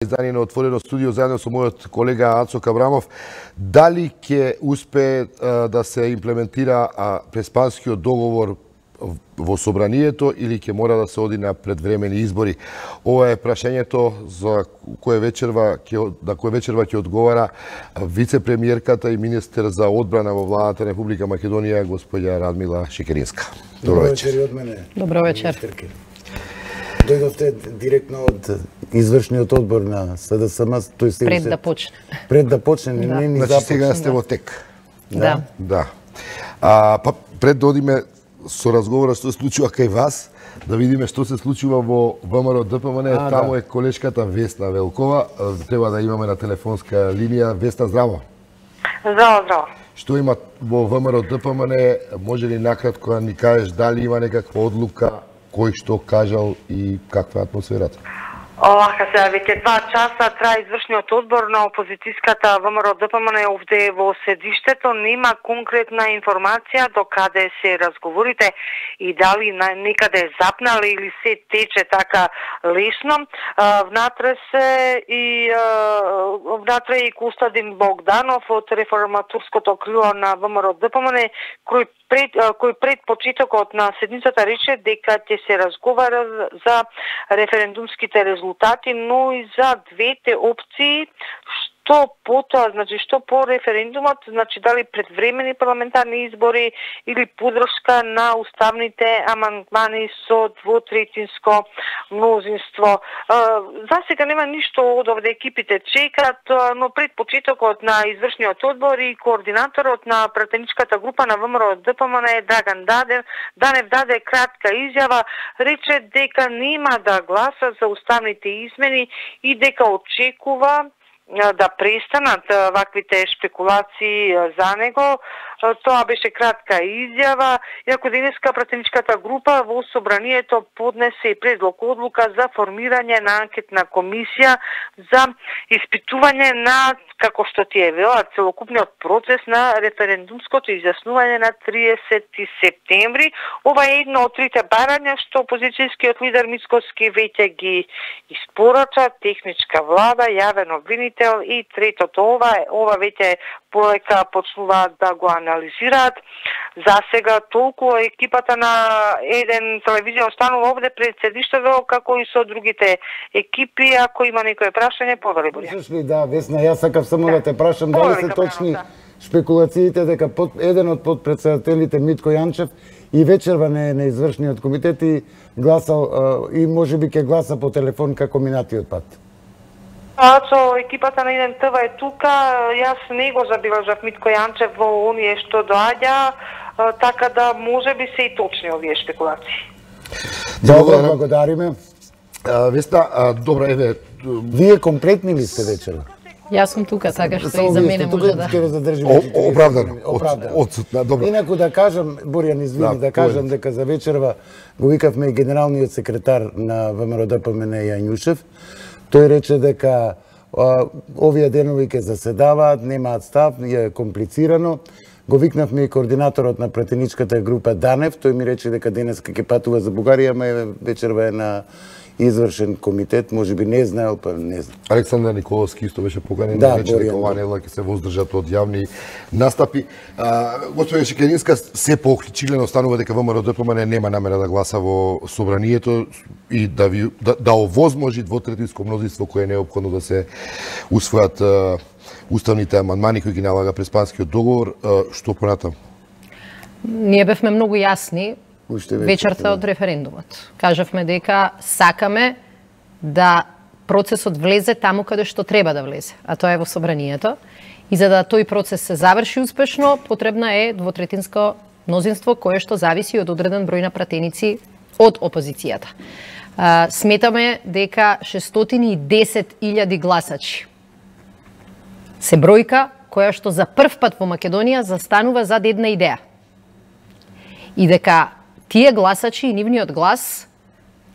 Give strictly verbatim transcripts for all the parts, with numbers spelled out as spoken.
издание на Отворено студио заедно со мојот колега Ацо Кабрамов. Дали ќе успее да се имплементира преспанскиот договор во собранието или ќе мора да се оди на предвремени избори? Ова е прашањето за кое вечерва ќе на кое вечерва ќе одговара вице-премиерката и министер за одбрана во владата на Република Македонија госпоѓа Радмила Шекеринска. Добро вечер од мене. Добро вечер. Дојдовте директно од извршниот одбор на СДСМ, тој се пред да почне. Пред да почне, не не ни започне. Значи сега сте во тек. Да. Да. А па пред да одиме со разговора што се случува кај вас, да видиме што се случува во ВМРО ДПМН. Таму е колешката Весна Велкова. Треба да имаме на телефонска линија. Весна, здраво. Здраво, здраво. Што има во ВМРО ДПМН? Може ли накратко да ни кажеш дали има некаква одлука, кој што кажал и каква е атмосферата? Овака сега веќе два часа трае извршниот одбор на опозицијската ВМРО ДПМН овде во седиштето. Нема конкретна информација до каде се разговорите и дали некаде запнале или се тече така лесно. Внатре се и внатре и Костадин Богданов од реформаторското крило на ВМРО ДПМН, кој пред кој пред почетокот на седницата рече дека ќе се разговара за референдумските резултати, но и за двете опции, што потоа, значи што по референдумот, значи дали предвремени парламентарни избори или поддршка на уставните амандмани со двотретинско мнозинство. За сега нема ништо од овде, екипите чекат, но пред почетокот на извршниот одбор и координаторот на пратеничката група на ВМРО ДПМН Драган Данев, Данев даде кратка изјава, рече дека нема да гласа за уставните измени и дека очекува да престанат ваквите шпекулации за него. Тоа беше кратка изјава. Иако денеска пратеничката група во собранието поднесе и предлог одлука за формирање на анкетна комисија за испитување на, како што ти е вела, целокупниот процес на референдумското изјаснување на триесети септември. Ова е едно од трите барања што опозицијскиот лидер Мицкоски веќе ги испорача, техничка влада, јавен обвинител и третото ова, ова веќе полека почнуваат да го анализираат. За сега толку екипата на еден телевизија останува овде пред седиштето, како и со другите екипи. Ако има некој прашање, повели Борја. Слушаш ли, да, Весна, јас сакав само да те прашам дали се точни шпекулациите дека под, еден од подпредседателите Митко Јанчев и вечерва не е на извршниот комитет и гласал и можеби ќе гласа по телефон како минатиот пат. Ацо, екипата на еден ТВ е тука, јас не го забележав Митко Јанчев во оние што доаѓа, така да може би се и точни овие шпекулации. Добро, благодариме. Весна, добро, еве, вие комплетни ли сте вечера? Јас сум тука, така што и за мене може да. Оправдано, одсутна, добро. Инаку да кажам, Борјан, извини, да кажам дека за вечерва го викавме и генералниот секретар на ВМРО ДПМН Јанјушев. Тој рече дека а, овие денови ќе заседаваат, немаат став, е комплицирано. Го викнавме и координаторот на пратеничката група Данев, тој ми рече дека денеска ќе патува за Бугарија, ама вечерва е на извршен комитет, можеби не знаел, па не знам. Александар Николовски исто беше поканен, да, рече дека ова недела ќе се воздржат од јавни настапи. Господја Шекеринска, се поохличилено станува дека ВМРО ДПМН нема намера да гласа во собранието и да ви да, да овозможи двотретинско мнозинство кое е неопходно да се усвојат а, уставните амандмани кои ги налага преспанскиот договор. А, што понатаму? Ние бевме многу јасни вечерта од референдумот. Кажавме дека сакаме да процесот влезе таму каде што треба да влезе, а тоа е во собранието. И за да тој процес се заврши успешно, потребна е двотретинско мнозинство кое што зависи од одреден број на пратеници од опозицијата. А, сметаме дека шестстотини и десет илјади гласачи се бројка која што за прв пат во Македонија застанува зад една идеја. И дека тие гласачи и нивниот глас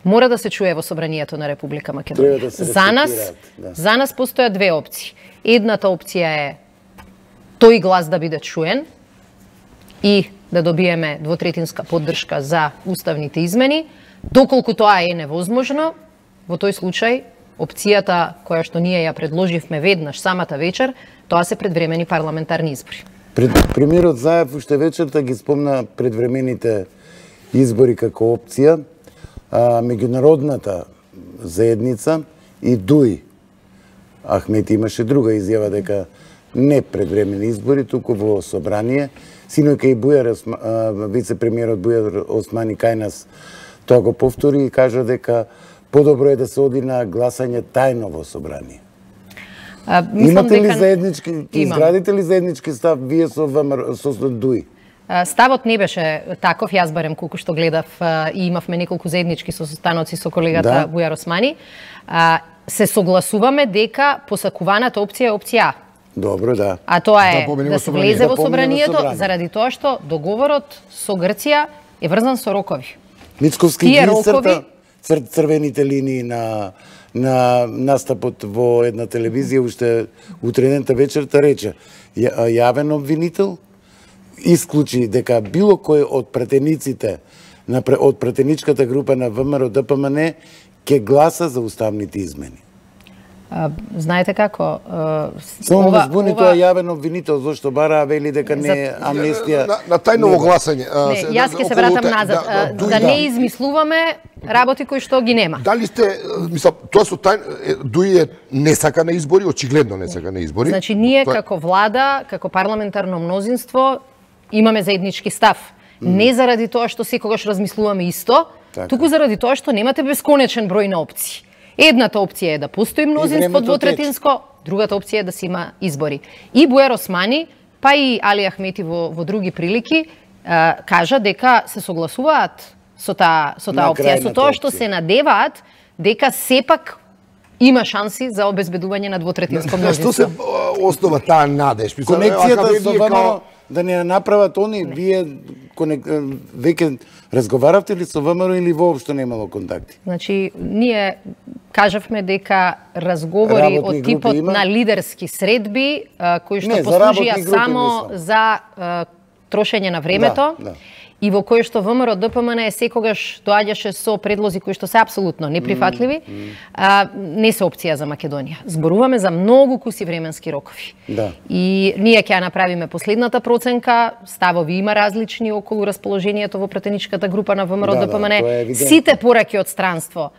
мора да се чуе во собранието на Република Македонија. Да за нас, да. за нас постојат две опции. Едната опција е тој глас да биде чуен и да добиеме двотретинска поддршка за уставните измени. Доколку тоа е невозможно, во тој случај опцијата која што ние ја предложивме веднаш самата вечер, тоа се предвремени парламентарни избори. Пред, премиерот Заев уште вечерта ги спомна предвремените избори како опција, а, меѓународната заедница и ДУИ. Ахмети имаше друга изјава дека не предвремени избори, туку во собрание. Синојка и Бујар, вице-премиерот Бујар Османи кај нас тоа го повтори и кажа дека подобро е да се оди на гласање тајно во собрание. А, Имате ли дека... заеднички, изградите ли заеднички став вие со ВМРО, со ДУИ? Ставот не беше таков, јас барем колку што гледав и имавме неколку заеднички состаноци со колегата да. Бујар Османи. Се согласуваме дека посакуваната опција е опција А. Добро, да. А тоа е да, да, да се влезе да во собранието, собрание. Заради тоа што договорот со Грција е врзан со рокови. Мицковски ги рокови... цр, црвените линии на на настапот во една телевизија уште утредента вечерта рече јавен обвинител исклучи дека било кој од пратениците на од пратеничката група на ВМРО Д П М Н ќе гласа за уставните измени. А, знаете како? А, Само ова, збуни ова... тоа јавен обвинител, зашто бараа вели дека не е амнестија. На, на тајново гласање. Не, јас ќе се вратам назад. Да, да, да, да не измислуваме работи кои што ги нема. Дали сте, мислам, тоа со тај ДУИ е не сака на избори, очигледно не сака на избори. Значи ние тоа... како влада, како парламентарно мнозинство имаме заеднички став. Mm. Не заради тоа што секогаш размислуваме исто, така. Туку заради тоа што немате бесконечен број на опции. Едната опција е да постои мнозинство двотретинско, другата опција е да се има избори. И Бујар Османи, па и Али Ахмети во, во други прилики, а, кажа дека се согласуваат со таа со таа опција, со тоа што се надеваат дека сепак има шанси за обезбедување на двотретинско мнозинство. Што се основа таа надеж? Конекцијата со ВМРО да не направат они, не. Вие конек... веќе разговаравте ли со ВМРО или воопшто немало контакти? Значи, ние кажавме дека разговори Работни од типот има? На лидерски средби, кои што не, послужија за само за а, трошење на времето, да, да. И во кој што ВМРО Д П М Н секогаш доаѓаше со предлози кои што се апсолутно неприфатливи, mm, mm. А, не се опција за Македонија. Зборуваме за многу куси временски рокови. Да. И ние ќе ја направиме последната проценка, ставови има различни околу расположението во пратеничката група на ВМРО да, Д П М Н. Да, сите пораки од странство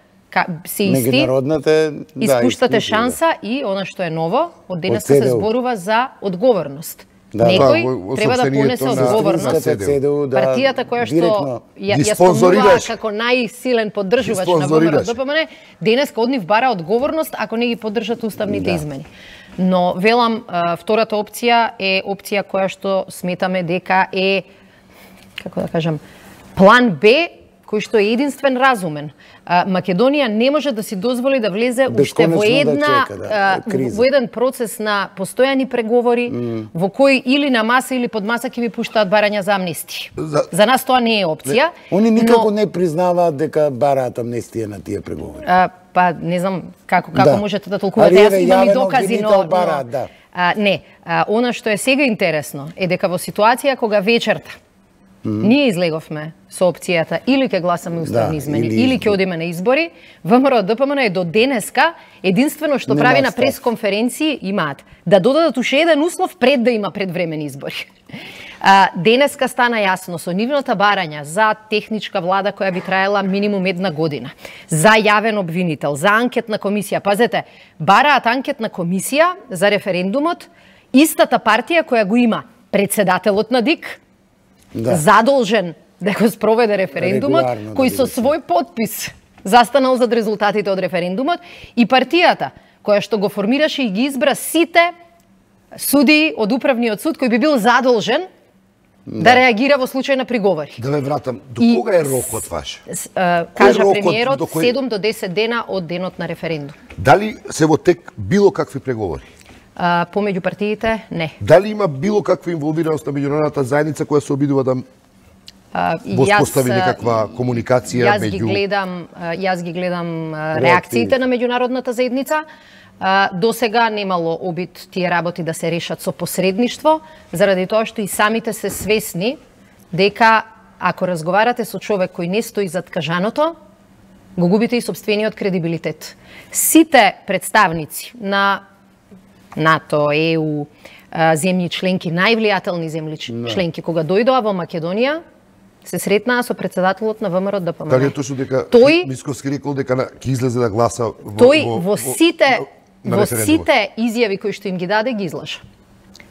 се исти. Меѓународната испуштате да, шанса да. И она што е ново, од денес се зборува за одговорност. Да, некој да, треба да понесе одговорност. Да, партијата која што ја, ја спомнува како најсилен поддржувач на ВМРО Д П М Н, денес од нив бара одговорност ако не ги поддржат уставните да. Измени. Но велам, втората опција е опција која што сметаме дека е, како да кажам, план Б кој што е единствен разумен. Македонија не може да си дозволи да влезе уште во една да чека, да, во еден процес на постојани преговори mm. во кој или на маса или под маса ќе ви пуштаат барања за амнестија. За, за нас тоа не е опција. Не. Они никако но... не признаваат дека бараат амнестија на тие преговори. А, па не знам како како да. Можете да толкувате. Јас имам и докази, но, бараат, но да. а, не, а, она што е сега интересно е дека во ситуација кога вечерта Mm-hmm. ние излеговме со опцијата или ќе гласаме уставни да, измени, или, или ќе одиме на избори, ВМРО Д П М Н е до денеска единствено што не прави на пресконференции имаат да додадат уште еден услов пред да има предвремени избори. А, денеска стана јасно со нивната барања за техничка влада која би траела минимум една година, за јавен обвинител, за анкетна комисија. Пазете, бараат анкетна комисија за референдумот, истата партија која го има председателот на ДИК, да. Задолжен да го спроведе референдумот, регуларно, кој да со свој подпис застанал зад резултатите од референдумот, и партијата која што го формираше и ги избра сите судии од управниот суд кој би бил задолжен да, да реагира во случај на приговори. Да ве вратам, до и, кога е рокот ваш? С, а, кажа премиерот, до кој... седум до десет дена од денот на референдум. Дали се во тек било какви преговори? Uh, помеѓу партиите, не. Дали има било каква инволвираност на меѓународната заедница која се обидува да uh, воспостави некаква комуникација јас меѓу... Ги гледам, uh, јас ги гледам uh, реакциите на меѓународната заедница. Uh, до сега немало обид тие работи да се решат со посредништво, заради тоа што и самите се свесни дека ако разговарате со човек кој не стои зад кажаното, го губите и сопствениот кредибилитет. Сите представници на НАТО, Е У, земји членки, највлијателни земји членки, кога дојдоа во Македонија, се сретнаа со председателот на ВМРО ДПМН. Дали е точно дека тој, Мицковски рекол дека ќе излезе да гласа во тој во, во сите во, во сите изјави кои што им ги даде ги излажа.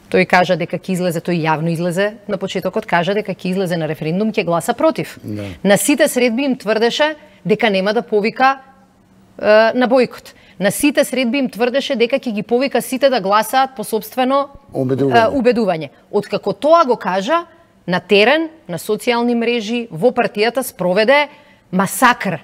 Тој кажа дека ќе излезе, тој јавно излезе на почетокот, кажа дека ќе излезе на референдум, ќе гласа против. Да. На сите средби им тврдеше дека нема да повика е, на бојкот. На сите средби им тврдеше дека ќе ги повика сите да гласаат по собствено убедување. Е, убедување. Откако тоа го кажа, на терен, на социјални мрежи, во партијата спроведе масакр.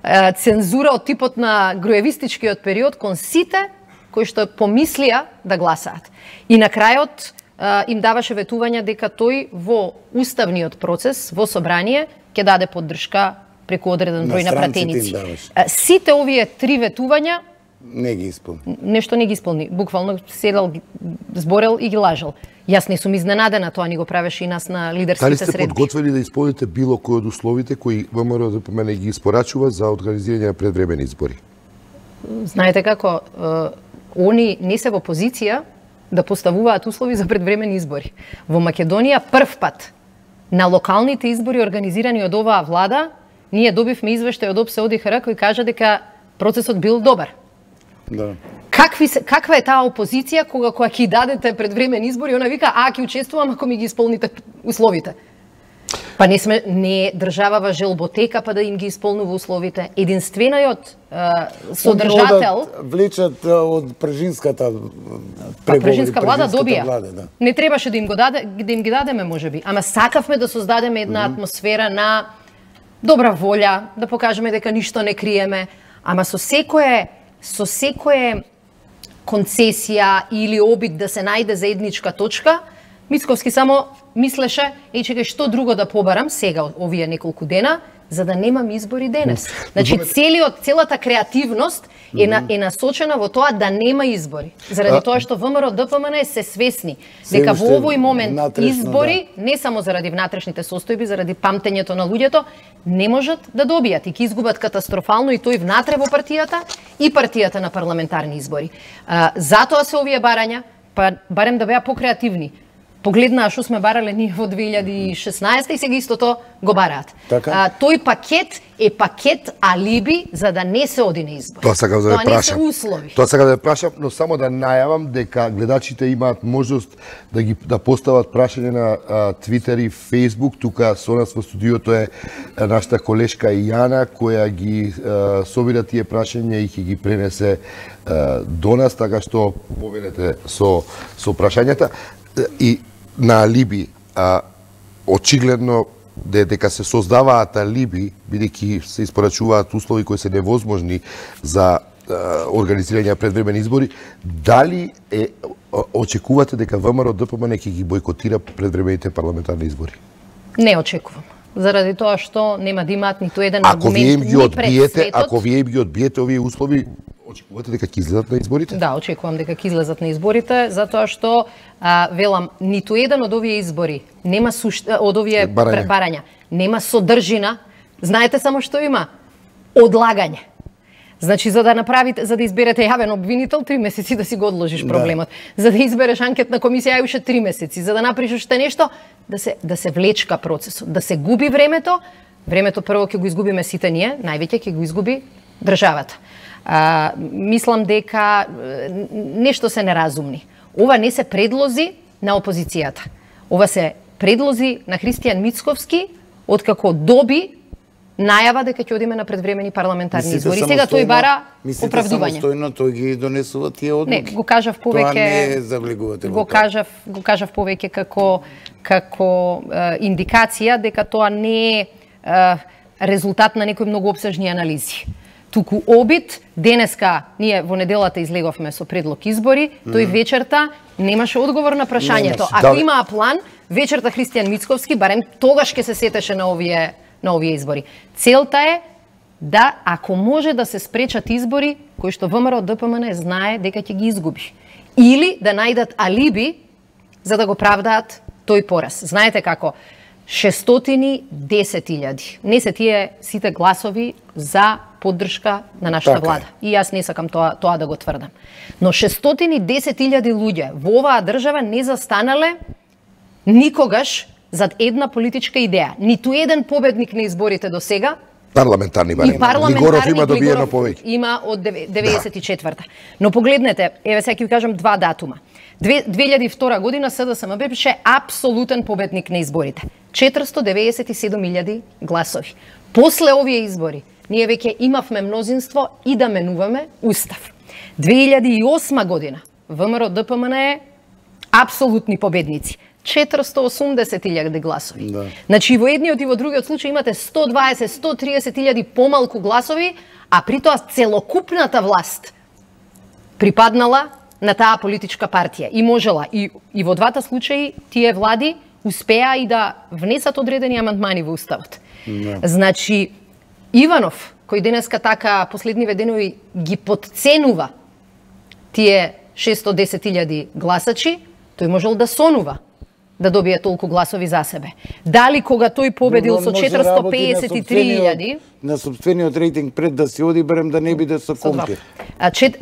Е, цензура од типот на груевистичкиот период кон сите кои што помислија да гласаат. И на крајот е, им даваше ветување дека тој во уставниот процес, во собрание, ќе даде поддршка преку одреден број на, на пратеници. Сите овие три ветувања не ги исполни. Нешто не ги исполни. Буквално седел, зборел и ги лажал. Јас не сум изненадена, тоа ни го правеше и нас на лидерските средби. Дали сте подготвени да исполните било кој од условите кои ВМРО ДПМН ги испорачува за организирање на предвремени избори? Знаете како, е, они не се во позиција да поставуваат услови за предвремени избори. Во Македонија прв пат на локалните избори организирани од оваа влада, ние добивме извештај од ОПСЕ ОДИХР кој кажа дека процесот бил добар. Да. Какви се, каква е таа опозиција кога кога ќе дадете предвремени избори, она вика, а ќе учествувам ако ми ги исполните условите. Па не сме не државава желботека па да им ги исполнува условите. Единствениот е, содржател влечат од прежинската преговори, прежинска влада добија. Влада, да. Не требаше да им го даде, да им ги дадеме можеби, ама сакавме да создадеме една mm -hmm. атмосфера на добра волја, да покажеме дека ништо не криеме, ама со секое со секое концесија или обид да се најде заедничка точка, Мицковски само мислеше, еј чекај, што друго да побарам сега овие неколку дена, за да немам избори денес. Значи целиот целата креативност е на, е насочена во тоа да нема избори. Заради тоа што ВМРО ДПМН се свесни дека во овој момент избори, не само заради внатрешните состојби, заради памтењето на луѓето, не можат да добијат и ќе изгубат катастрофално и тој внатре во партијата и партијата на парламентарни избори. А, затоа се овие барања, па барем да беа покреативни. Погледнаа што сме барале ние во две илјади и шеснаесета и сега истото го бараат. Така? А, тој пакет е пакет алиби за да не се оди на избор. Тоа сакам да ве прашам. Тоа не се услови. Тоа сакам да ве прашам, но само да најавам дека гледачите имаат можност да ги да постават прашање на Твитер и Фејсбук. Тука со нас во студиото е нашата колешка Јана која ги а, собира тие прашања и ќе ги пренесе а, до нас, така што повелете со со прашањата. И на алиби, а, очигледно дека се создаваат алиби, бидејќи се испорачуваат услови кои се невозможни за а, организирање на предвремени избори, дали е очекувате дека ВМРО ДПМН ќе ги бойкотира предвремените парламентарни избори? Не очекувам. Заради тоа што нема да имаат ниту еден ако аргумент вие им ги ни пред одбиете, светот. Ако вие им ги одбиете овие услови, очекувате дека ќе излезат на изборите? Да, очекувам дека ќе излезат на изборите, затоа што а, велам, ниту еден од овие избори нема сушта, од овие барања. барања, нема содржина. Знаете само што има? Одлагање. Значи, за да направите, за да изберете јавен обвинител, три месеци да си го одложиш проблемот. Да. За да избереш анкетна комисија, уште три месеци. За да направиш уште нешто, да се да се влечка процесот, да се губи времето. Времето прво ќе го изгубиме сите ние, највеќе ќе го изгуби државата. А, мислам дека нешто се неразумни. Ова не се предлози на опозицијата. Ова се предлози на Христијан Мицковски, откако доби најава дека ќе одиме на предвремени парламентарни избори. Сега тој бара оправдување. Самостојно тој ги донесува тие одлуки. Не, го кажав повеќе. Тоа не завлегувате. Го кажав, го кажав повеќе како како е, индикација дека тоа не е, е резултат на некои многу опсежни анализи. Туку обид, денеска ние во неделата излеговме со предлог избори, тој вечерта немаше одговор на прашањето. Немаше. Ако Да. имаа план, вечерта Христијан Мицковски барем тогаш ќе се сетеше на овие на овие избори. Целта е да, ако може да се спречат избори кои што ВМРО ДПМН знае дека ќе ги изгуби. Или да најдат алиби за да го правдаат тој пораз. Знаете како, шестстотини и десет илјади. Не се тие сите гласови за поддршка на нашата влада. И јас не сакам тоа, тоа да го тврдам. Но шестстотини и десет илјади луѓе во оваа држава не застанале никогаш зад една политичка идеја. Ниту еден победник на изборите до сега. Парламентарни барем. И парламентарни, Глигоров има добиено повеќе. Има од деветдесет и четврта. Но погледнете, еве сега ќе ви кажам два датума. две илјади и втора година СДСМ беше апсолутен победник на изборите. четиристо деветдесет и седум илјади гласови. После овие избори, ние веќе имавме мнозинство и да менуваме устав. две илјади и осма година, ВМРО Д П М Н е апсолутни победници. четиристо и осумдесет илјади гласови. Да. Значи и во едниот и во другиот случај имате сто дваесет до сто триесет илјади помалку гласови, а при тоа целокупната власт припаднала на таа политичка партија и можела и, и во двата случаи тие влади успеа и да внесат одредени амандмани во уставот. Да. Значи Иванов, кој денеска така последниве денови ги потценува тие шестстотини и десет илјади гласачи, тој можел да сонува да добие толку гласови за себе. Дали кога тој победил со четиристо пеесет и три илјади на сопствениот рейтинг пред да се оди, барем да не биде со компир.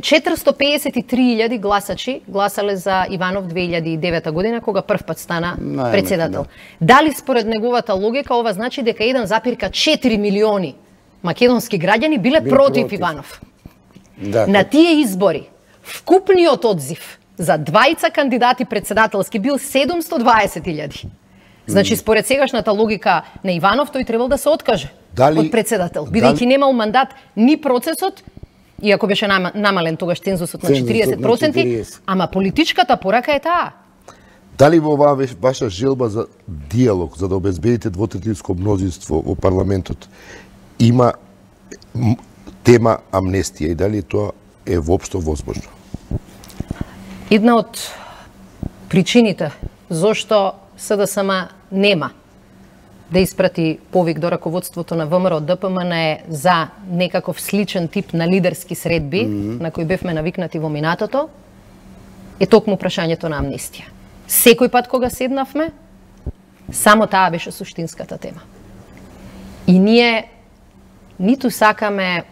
четиристо пеесет и три илјади гласачи гласале за Иванов две илјади и девета година кога прв пат стана Најме, председател. Да. Дали според неговата логика ова значи дека еден запирка четири милиони македонски граѓани биле Бил против, против Иванов? Да, на тие избори вкупниот одзив за двајца кандидати председателски бил седумсто дваесет илјади. Значи, според сегашната логика на Иванов, тој требал да се откаже Дали... од председател, бидејќи дали... немал мандат ни процесот, иако беше намален тогаш цензусот на четириесет проценти, ама политичката порака е таа. Дали во оваа ваша желба за диалог, за да обезбедите двотретинско мнозинство во парламентот, има тема амнестија и дали тоа е воопшто возможно? Една од причините зошто СДСМ нема да испрати повик до раководството на ВМРО Д П М Н е за некаков сличен тип на лидерски средби, mm -hmm. на кои бевме навикнати во минатото, е токму прашањето на амнестија. Секој пат кога седнавме, само таа беше суштинската тема. И ние ниту сакаме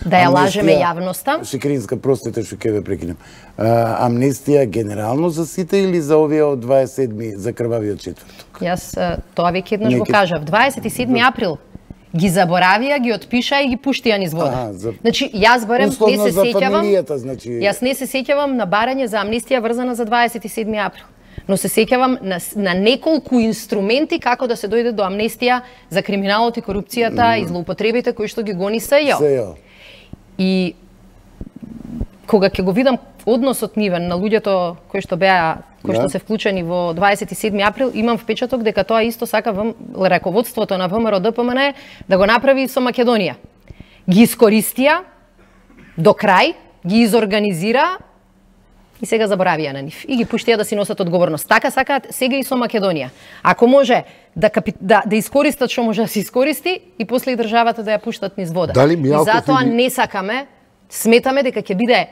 да ја лажеме јавноста. Шекеринска, простете што ќе ве прекинем. А, амнестија генерално за сите или за овие од дваесет и седми за крвавиот четврток? Јас тоа веќе еднаш го кажав. дваесет и седми април ги заборавија, ги отпишаа и ги пуштија низ вода. Ага, за... Значи, јас барем не се сеќавам. Значи... Јас не се сеќавам на барање за амнестија врзана за дваесет и седми април. Но се сеќавам на, на неколку инструменти како да се дојде до амнестија за криминалот и корупцијата mm. и злоупотребите кои што ги гони СЈО. И кога ќе го видам односот нивен на луѓето кои што беа, кои што се вклучени во дваесет и седми април, имам впечаток дека тоа исто сака во раководството на ВМРО Д П М Н да го направи со Македонија. Ги искористија до крај, ги изорганизира и сега заборавија на нив. И ги пуштија да си носат одговорност. Така сакаат сега и со Македонија. Ако може да, капи... да, да искористат што може да се искористи и после и државата да ја пуштат низ вода. Дали и затоа или... не сакаме, сметаме дека ќе биде е,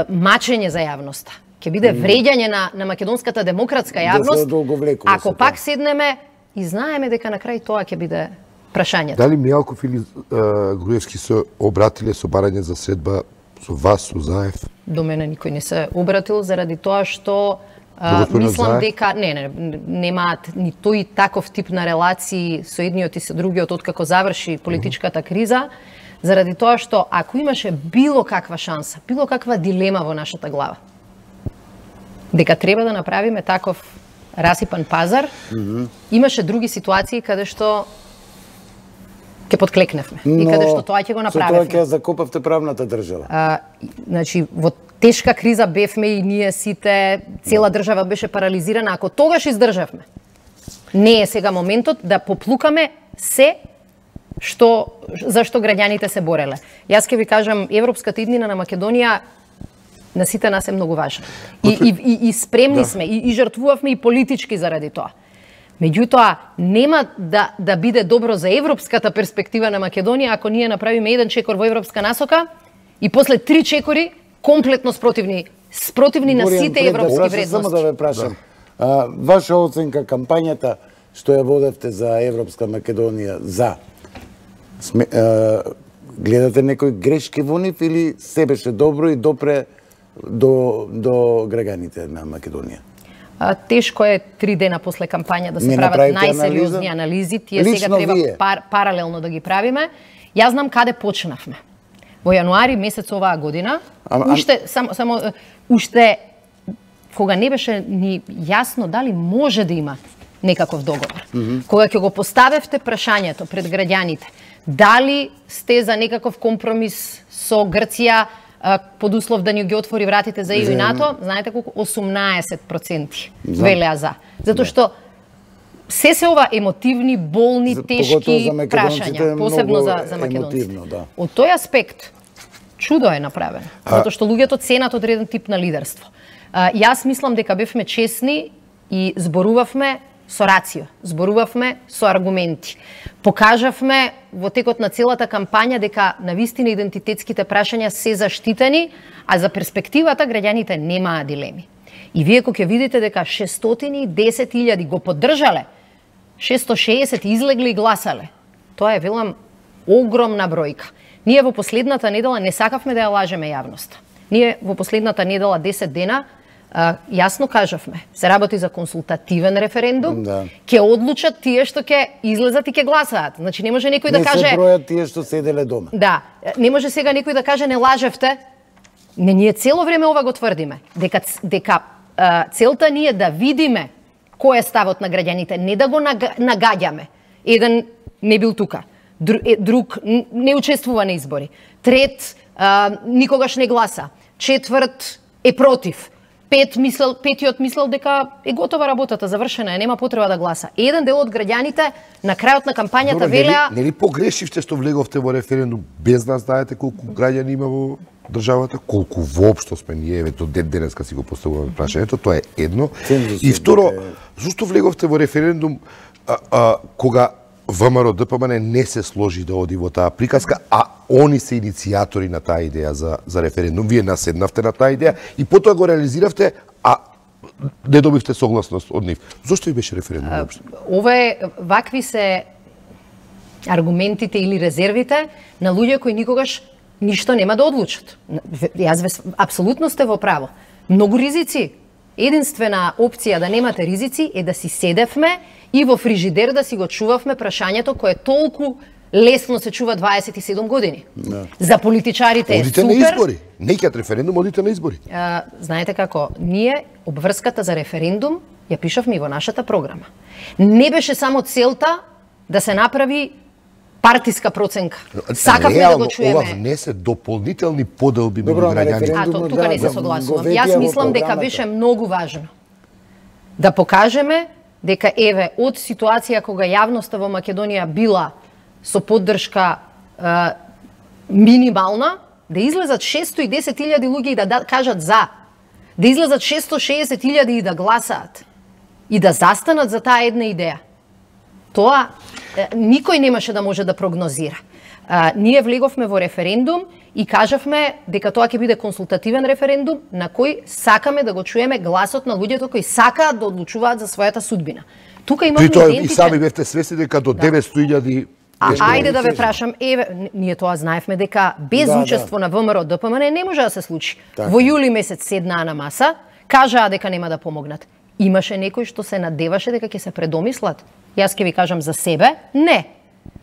мачење за јавноста. Ќе биде вреѓање на, на македонската демократска јавност. Да ако пак седнеме и знаеме дека на крај тоа ќе биде прашањето. Дали Мијалков или Груевски се обратиле со барање за средба со вас, со Заев? До мене никој не се обратил заради тоа што а, мислам дека не, не, немаат ни тој таков тип на релации со едниот и со другиот откако заврши политичката криза, заради тоа што ако имаше било каква шанса, било каква дилема во нашата глава, дека треба да направиме таков расипан пазар, mm -hmm. имаше други ситуации каде што ќе подклекневме но, и каде што тоа ќе го направиме. Со тоа ќе закопавте правната држава. А, значи во тешка криза бевме и ние сите, цела држава беше парализирана. Ако тогаш издржавме, не е сега моментот да поплукаме се што зашто граѓаните се бореле. Јас ќе ви кажам, европската иднина на Македонија на сите нас е многу важна. И, и, и, и спремни да. сме, и, и жртвувавме и политички заради тоа. Меѓутоа, нема да, да биде добро за европската перспектива на Македонија ако ние направиме еден чекор во европска насока и после три чекори комплетно спротивни, спротивни на сите европски да вредности. Само да ве прашам, да. А, ваша оценка кампањата што ја водевте за Европска Македонија, за Сме, е, гледате некои грешки во нив или се беше добро и допре до, до граѓаните на Македонија? А, тешко е три дена после кампања да се Не прават направите најсериозни анализа? анализи. Тие Лично сега треба вие? пар, паралелно да ги правиме. Јас знам каде почнавме. Во јануари месец оваа година, Ама- ам- уште само само уште кога не беше ни јасно дали може да има некаков договор. Кога ќе го поставевте прашањето пред граѓаните, дали сте за некаков компромис со Грција а, под услов да ни ги отвори вратите за Е У и НАТО, знаете колку? осумнаесет проценти велеа за. Затоа што се се ова емотивни, болни, За- тешки поготово за македонците е прашања, посебно многу за, за македонците. емотивно, да. Од тој аспект, чудо е направено. Затоа што луѓето ценат одреден тип на лидерство. А, јас мислам дека бевме честни и зборувавме со рацио, зборувавме со аргументи. Покажавме во текот на целата кампања дека навистина идентитетските прашања се заштитени, а за перспективата граѓаните немаа дилеми. И вие кога ќе видите дека шестстотини и десет илјади го поддржале, шестстотини и шеесет излегли и гласале, тоа е, велам, огромна бројка. Ние во последната недела не сакавме да ја лажеме јавноста. Ние во последната недела десет дена а, јасно кажавме, се работи за консултативен референдум, Да. ќе одлучат тие што ќе излезат и ќе гласаат. Значи не може некој да Не каже се бројат тие што седеле дома. да, не може сега некој да каже не лажевте. Не, ние цело време ова го тврдиме, дека дека а, целта ни е да видиме кој е ставот на граѓаните, не да го нага- нагаѓаме. Еден не бил тука, друг, друг не учествува на избори, трет а, никогаш не гласа, четврт е против, пет мислел, петиот мислел дека е готова работата, завршена е, нема потреба да гласа. Еден дел од граѓаните на крајот на кампањата Добро, нели, велеа нели погрешивте што влеговте во референдум без да знаете колку граѓани има во државата, колку воопшто сме ние, еве до ден денеска си го поставуваме прашањето, тоа е едно. Цензусот И второ, дека зошто влеговте во референдум а, а, кога ВМРО Д П М Н не се сложи да оди во таа приказка, а они се иницијатори на таа идеја за, за референдум. Вие наседнавте на таа идеја и потоа го реализиравте, а не добивте согласност од нив. Зошто и беше референдум воопшто? Ова е, вакви се аргументите или резервите на луѓе кои никогаш ништо нема да одлучат. Јас ве, апсолутно сте во право. Многу ризици. Единствена опција да немате ризици е да си седевме и во фрижидер да си го чувавме прашањето кое толку лесно се чува дваесет и седум години. Да. За политичарите е Одите супер. на избори. Не ќе референдум, одите на избори. А, знаете како, ние обврската за референдум ја пишавме и во нашата програма. Не беше само целта да се направи партиска проценка. Сакавме да го чуеме. Ова внесе дополнителни поделби меѓу Добро, на граѓаните. референдум- А, то, тука не се да, согласувам. го ветија Јас во мислам дека програмата. беше многу важно да покажеме дека еве од ситуација кога јавноста во Македонија била со поддршка е, минимална, да излезат шестстотини и десет илјади луѓе и да, да кажат за, да излезат шестстотини и шеесет илјади и да гласаат и да застанат за таа една идеја. Тоа е, никој немаше да може да прогнозира. А, ние влеговме во референдум и кажавме дека тоа ќе биде консултативен референдум на кој сакаме да го чуеме гласот на луѓето кои сакаат да одлучуваат за својата судбина. Тука имаме При тоа и идентитет. сами бевте свесни дека до деветстотини илјади А, нешто ајде да ве се- прашам, еве, н- ние тоа знаевме дека без Да, учество на ВМРО Д П М Н не може да се случи. Така. Во јули месец седнаа на маса, кажаа дека нема да помогнат. Имаше некој што се надеваше дека ќе се предомислат. Јас ќе ви кажам за себе, не.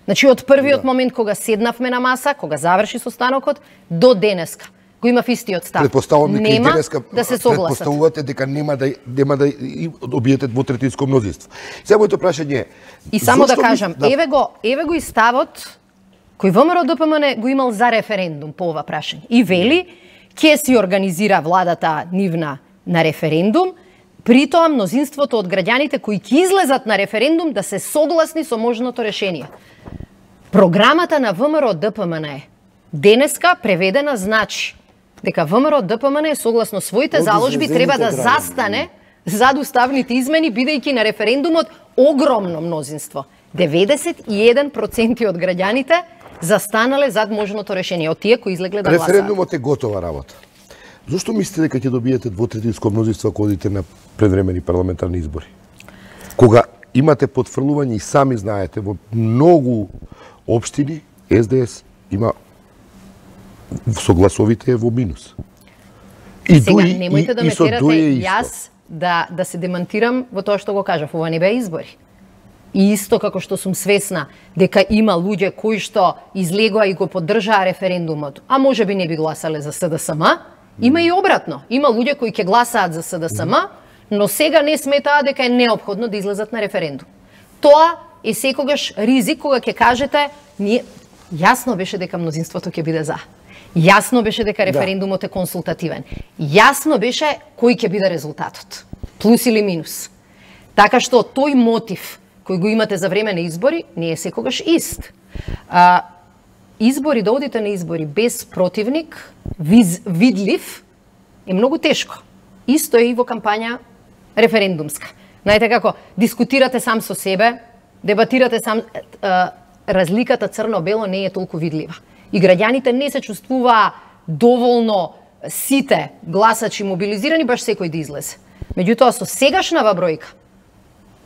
Значи од првиот да. момент кога седнавме на маса, кога заврши состанокот, до денеска го имав истиот став. Предпоставувам дека и нема денеска да се согласат. предпоставувате дека нема да нема да и добиете двотретинско мнозинство. Сега моето прашање е И само да зошто кажам, мис- да, еве го, еве го и ставот кој ВМРО Д П М Н го имал за референдум по ова прашање. И вели, ќе си организира владата нивна на референдум, при тоа мнозинството од граѓаните кои ќе излезат на референдум да се согласни со можното решение. Програмата на ВМРО Д П М Н е денеска преведена значи дека ВМРО Д П М Н согласно своите Од заложби треба да излезените граѓани. застане зад уставните измени, бидејќи на референдумот огромно мнозинство. деветдесет и еден проценти од граѓаните застанале зад можното решение, од тие кои излегле да гласаат. референдумот е готова работа. Зошто мислите дека ќе добиете двотретинско мнозинство ако одите на предвремени парламентарни избори? Кога имате потфрлување и сами знаете, во многу општини Ес Де Ес има со гласовите во минус. И сега, дуи, немојте и, да ме терате јас да, да се демантирам во тоа што го кажав, ова не беа избори. И исто како што сум свесна дека има луѓе кои што излегоа и го поддржаа референдумот, а може би не би гласале за Се Де Ес Ем, има и обратно. Има луѓе кои ќе гласаат за Се Де Ес Ем, но сега не сметаа дека е неопходно да излезат на референдум. Тоа е секогаш ризик кога ќе кажете, ние јасно беше дека мнозинството ќе биде за. Јасно беше дека референдумот е консултативен. Јасно беше кој ќе биде резултатот. Плюс или минус. Така што тој мотив кој го имате за време на избори не е секогаш ист. А, избори, да одите на избори без противник, виз, видлив, е многу тешко. Исто е и во кампања референдумска. Знаете како, дискутирате сам со себе, дебатирате сам, а, разликата црно-бело не е толку видлива. И граѓаните не се чувствуваа доволно сите гласачи мобилизирани, баш секој да излезе. Меѓутоа, со сегашнава бројка,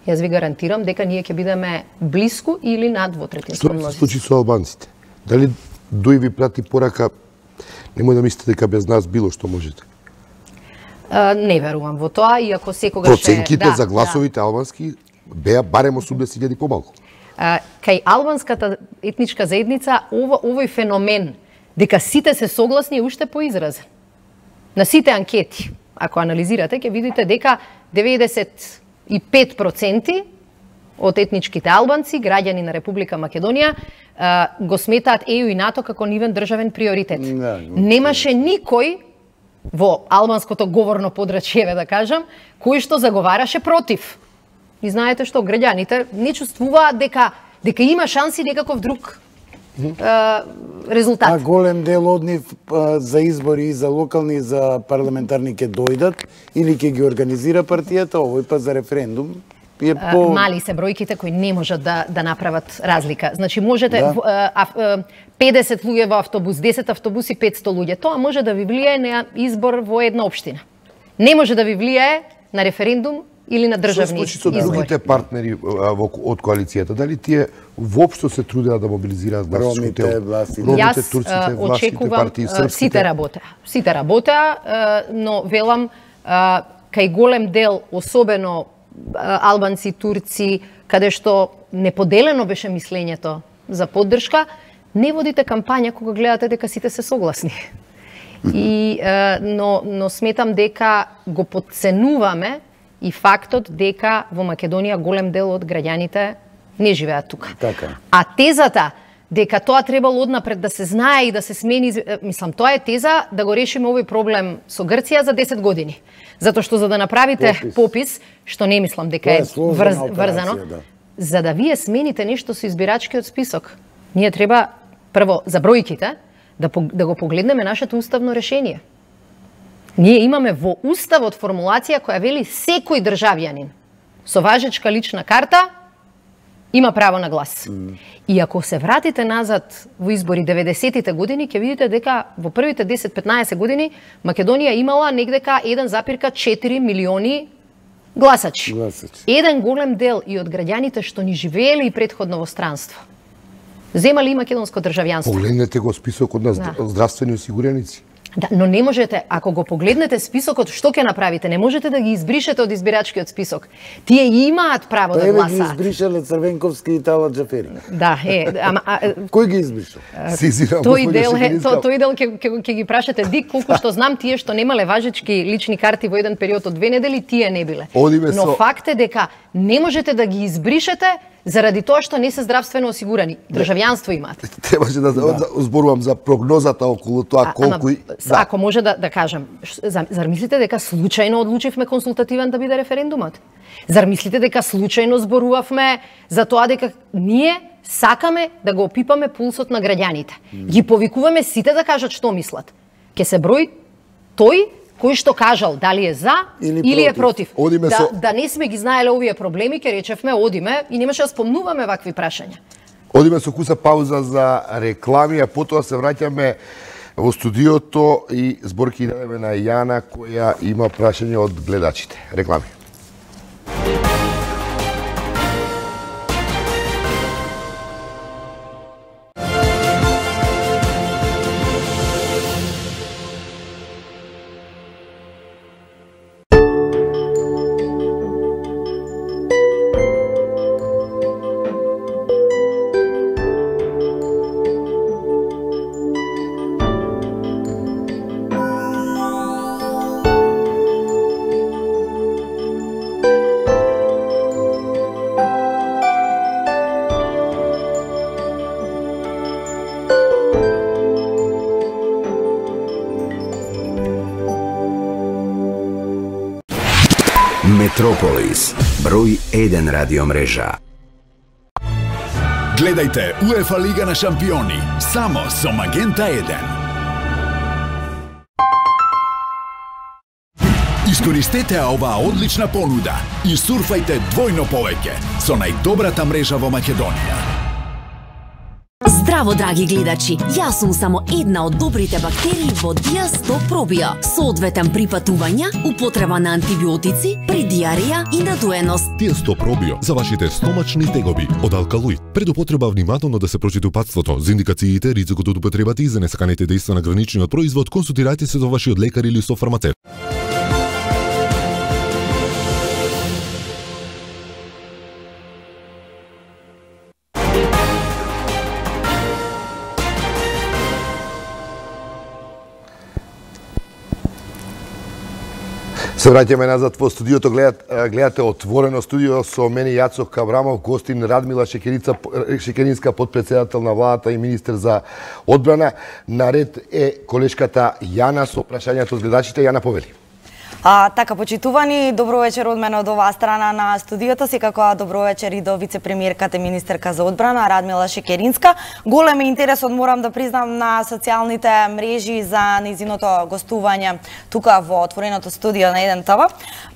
јас ви гарантирам дека ние ќе бидеме блиску или над двотретинско мнозинство. Што се случи со албанците? Дали Дуј ви прати порака, немој да мислите дека без нас било што можете? А, не верувам во тоа, иако секогаш проценките да, за гласовите да. Албански беа барем осумдесет илјади помалку. А, кај албанската етничка заедница ова, овој феномен дека сите се согласни е уште поизразен. На сите анкети, ако анализирате, ќе видите дека деветдесет и пет проценти од етничките албанци, граѓани на Република Македонија, го сметаат Е Ю и НАТО како нивен државен приоритет. Не, Немаше никој во албанското говорно подрачјеве, да кажам, кој што заговараше против. И знаете што, граѓаните не чувствуваат дека дека има шанси некаков друг е, резултат. А голем дел од нив за избори, за локални, за парламентарни ќе дојдат или ќе ги организира партијата, овој па за референдум. Е по... Мали се бројките кои не можат да, да направат разлика. Значи можете да. а, а, педесет луѓе во автобус, десет автобуси, петсто луѓе. Тоа може да ви влијае на избор во една општина. Не може да ви влијае на референдум или на државни избори. Што се случи со другите партнери од коалицијата? Дали тие воопшто се трудеа да мобилизираат гласачките? Ромите, властите, Ромите, турците, властите партии, српските? Сите работеа. Сите работеа, но велам, кај голем дел, особено албанци, турци, каде што неподелено беше мислењето за поддршка, не водите кампања кога гледате дека сите се согласни. И, но, но сметам дека го подценуваме и фактот дека во Македонија голем дел од граѓаните не живеат тука. Така. А тезата дека тоа требало однапред да се знае и да се смени, мислам, тоа е теза да го решиме овој проблем со Грција за десет години. Затоа што за да направите попис, попис што не мислам дека е, е врз, врзано, да. За да вие смените нешто со избирачкиот список, ние треба прво за бројките да, да го погледнеме нашето уставно решение. Ние имаме во уставот формулација која вели секој државјанин со важечка лична карта има право на глас. Mm. И ако се вратите назад во избори деветдесетите години, ќе видите дека во првите десет-петнаесет години Македонија имала негдека еден запирка четири милиони гласачи. гласачи. Еден голем дел и од граѓаните што ни живееле и претходно во странство. Земали и македонско државјанство. Погледнете го списокот на да. здравствени осигуреници. Да, но не можете, ако го погледнете списокот, што ќе направите? Не можете да ги избришете од избирачкиот список. Тие имаат право па да гласаат. Па еве ги избришале Црвенковски и Талат Џафери. Да, е, ама а, кој ги избриша? Тој дел е, то, тој дел ќе ќе ги прашате Дик, колку што знам, тие што немале важечки лични карти во еден период од две недели, тие не биле. Одиме Но со... факт е дека не можете да ги избришете заради тоа што не се здравствено осигурани. Државјанство имаат. Требаше да, да. зборувам за прогнозата околу тоа колку и да. Ако може да да кажам, зар мислите дека случајно одлучивме консултативен да биде референдумот? Зар мислите дека случајно зборувавме за тоа дека ние сакаме да го опипаме пулсот на граѓаните? Ги повикуваме сите да кажат што мислат. Ке се брои тој кој што кажал дали е за или, или е против. Одиме да, со... да не сме ги знаеле овие проблеми, ке речевме одиме и немаше да спомнуваме вакви прашања. Одиме со куса пауза за реклами, а потоа се враќаме во студиото и зборки дадеме на Јана која има прашање од гледачите. Реклами. Метрополис, број еден радио мрежа. Гледајте УЕФА Лига на шампиони, само со Магента еден. Искористете оваа одлична понуда и сурфајте двојно повеќе со најдобрата мрежа во Македонија. Здраво, драги гледачи! Јас сум само една од добрите бактерии во Диасто Пробио. Со одветен при патувања, употреба на антибиотици, при диареја и надуеност. Диасто Пробио за вашите стомачни тегоби од алкалоид. Пред употреба внимателно да се прочита упатството, за индикациите, ризикот од употребата и за несаканите дејства на граничниот производ, консултирајте се со вашиот лекар или со фармацевт. Се враќаме назад во студиото, гледате, гледате Отворено студио со мене Јацо Каврамов, гостин Радмила Шекерица, Шекеринска, подпредседател на владата и министер за одбрана. Наред е колешката Јана со прашањето од гледачите. Јана, повели. А, така, почитувани, добро вечер од мене од оваа страна на студиото, секако добро вечер и до вице-премиерката и министерка за одбрана Радмила Шекеринска. Голем интересот, морам да признам, на социјалните мрежи за нејзиното гостување тука во Отвореното студио на еден ТВ.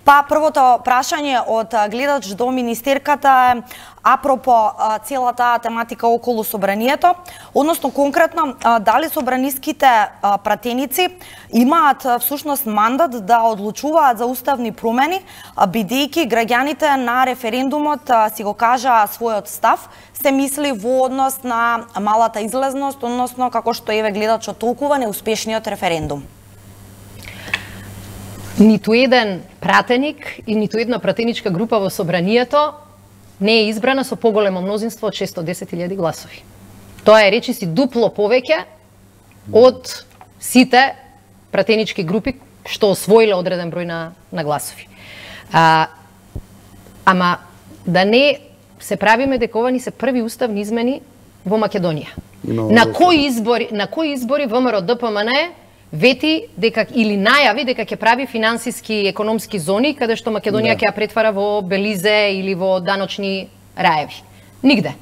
Па првото прашање од гледач до министерката е апропо целата тематика околу собранието, односно конкретно дали собраниските пратеници имаат всушност мандат да одлучуваат за уставни промени, бидејќи граѓаните на референдумот си го кажа својот став, се мисли во однос на малата излезност, односно како што еве гледачот толкува неуспешниот референдум. Ниту еден пратеник и ниту една пратеничка група во собранието не е избрана со поголемо мнозинство од шестстотини и десет илјади гласови. Тоа е речиси дупло повеќе од сите пратенички групи што освоиле одреден број на, на гласови. А, ама да не се правиме дека ова ни се први уставни измени во Македонија. На кои избори, на кои избори ВМРО Д П М Н вети дека или најави дека ќе прави финансиски и економски зони каде што Македонија ќе ја претвара во Белизе или во даночни раеви. Нигде.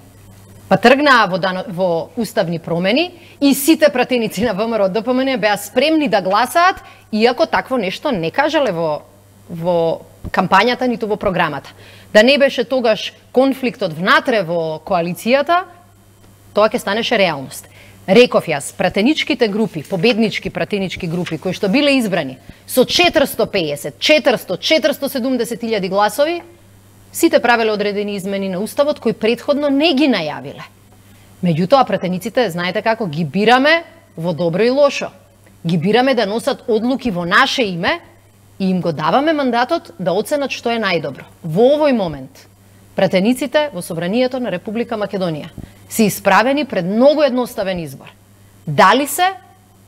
Па тргнаа во, дано, во уставни промени и сите пратеници на ВМРО Д П М Н беа спремни да гласаат, иако такво нешто не кажале во, во кампањата ниту во програмата. Да не беше тогаш конфликтот внатре во коалицијата, тоа ќе станеше реалност. Реков јас, пратеничките групи, победнички пратенички групи, кои што биле избрани со четиристотини и пеесет, четиристотини, четиристотини и седумдесет илјади гласови, сите правеле одредени измени на уставот кои претходно не ги најавиле. Меѓутоа, пратениците, знаете како, ги бираме во добро и лошо. Ги бираме да носат одлуки во наше име и им го даваме мандатот да оценат што е најдобро. Во овој момент, пратениците во Собранието на Република Македонија се исправени пред многу едноставен избор. Дали се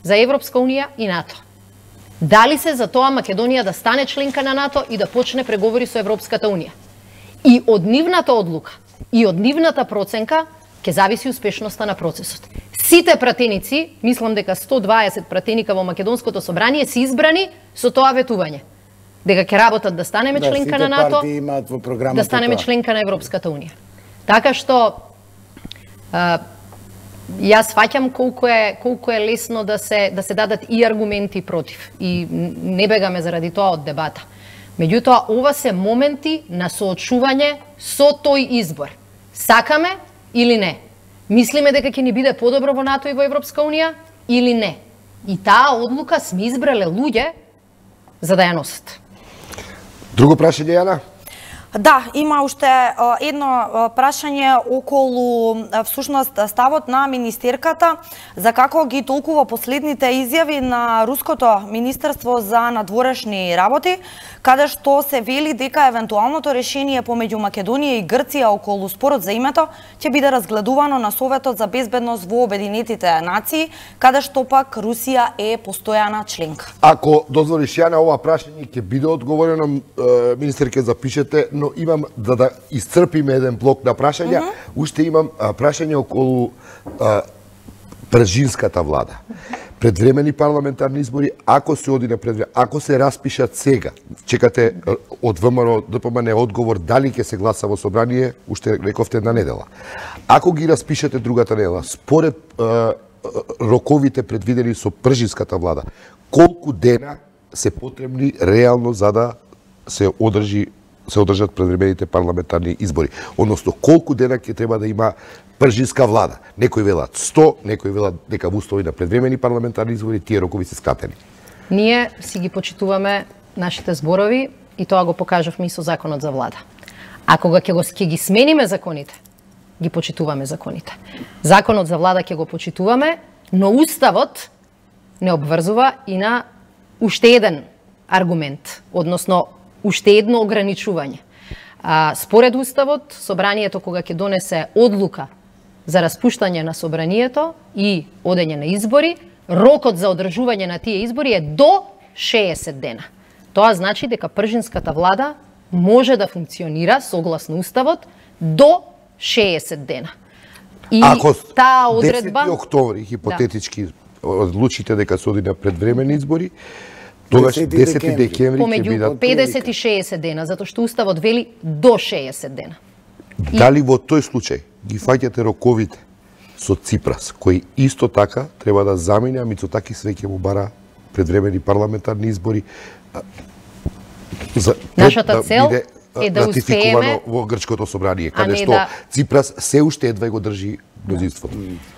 за Европска Унија и НАТО? Дали се за тоа Македонија да стане членка на НАТО и да почне преговори со Европската Унија? И од нивната одлука, и од нивната проценка, ќе зависи успешноста на процесот. Сите пратеници, мислам дека сто и дваесет пратеника во Македонското собрание се избрани со тоа ветување. Дека ќе работат да станеме да, членка на НАТО, да станеме тоа. Членка на Европската Унија. Така што а, јас фаќам колку е колку е лесно да се да се дадат и аргументи против и не бегаме заради тоа од дебата. Меѓутоа ова се моменти на соочување со тој избор. Сакаме или не? Мислиме дека ќе ни биде подобро во НАТО и во Европска Унија или не? И таа одлука сме избрале луѓе за да ја носат. Друго прашање, Јана? Да, има уште едно прашање околу всушност ставот на министерката за како ги толкува последните изјави на руското министерство за надворешни работи, каде што се вели дека евентуалното решение помеѓу Македонија и Грција околу спорот за името ќе биде разгледувано на Советот за безбедност во Обединетите нации, каде што пак Русија е постојана членка. Ако дозволиш, Јана, ова прашање ќе биде одговорено, министерке, запишете, но имам, за да исцрпиме еден блок на прашања, mm -hmm. уште имам а, прашање околу а, пржинската влада. предвремени парламентарни избори, ако се оди на предвремени, ако се распишат сега, чекате од ВМРО ДПМН одговор дали ќе се гласа во собрание, уште рековте една недела. Ако ги распишете другата недела, според е, роковите предвидени со пржинската влада, колку дена се потребни реално за да се одржи се одржат предвремените парламентарни избори? Односно, колку дена ќе треба да има пржинска влада? Некои велат сто, некои велат дека во услови на предвремени парламентарни избори тие рокови се скратени. Ние си ги почитуваме нашите зборови и тоа го покажавме и со законот за влада. А кога ќе го ќе ги смениме законите, ги почитуваме законите. Законот за влада ќе го почитуваме, но уставот не обврзува и на уште еден аргумент, односно уште едно ограничување. А, според уставот, собранието кога ќе донесе одлука за распуштање на собранието и одење на избори, рокот за одржување на тие избори е до шеесет дена. Тоа значи дека пржинската влада може да функционира согласно уставот до шеесет дена. И ако таа одредба десети октомври хипотетички да. одлучите дека се оди на предвремени избори, тогаш десети декември ќе помеѓу бидат педесет и шеесет дена, затоа што уставот вели до шеесет дена. Дали во тој случај ги фаќате роковите со Ципрас, кој исто така треба да замине, а Мицотакис веќе му бара предвремени парламентарни избори за нашата да цел биде е да успееме во грчкото собрание, каде што да... Ципрас се уште едва го држи мнозинството.